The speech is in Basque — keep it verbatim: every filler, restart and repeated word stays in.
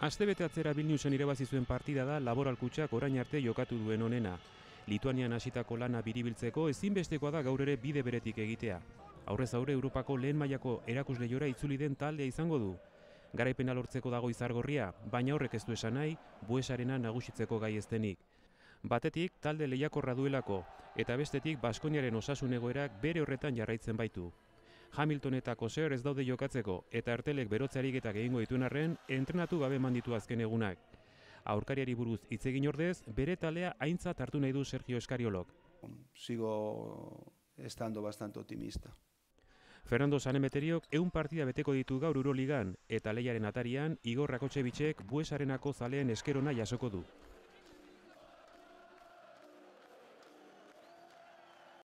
Astebete atzera Vilniusen irabazi zuen partida da Laboral Kutxak orain arte jokatu duen onena. Lituanian hasitako lana biribiltzeko ezinbestekoa da gaur ere bide beretik egitea. Aurrez aurre Europako lehen mailako erakusleiora itzuli den taldea izango du. Garaipena lortzeko dago izargorria, baina horrek ez du esan nahi Buesarena nagusitzeko gai ez denik. Batetik talde lehiakorra duelako, eta bestetik Baskoniaren osasun egoerak bere horretan jarraitzen baitu. Hamilton eta Koseur ez daude jokatzeko, eta Ertelek berotze ariketak egingo dituen arren, entrenatu gabe eman ditu azken egunak. Aurkariari buruz hitz egin ordez, bere talea aintzat hartu nahi du Sergio Eskariolok. Sigo estando bastante optimista. Fernando Sanemeteriok ehun partida beteko ditu gaur Euroligan, eta lehiaren atarian Igor Rakotxevitzek Buesarenako zaleen eskerona jasoko du.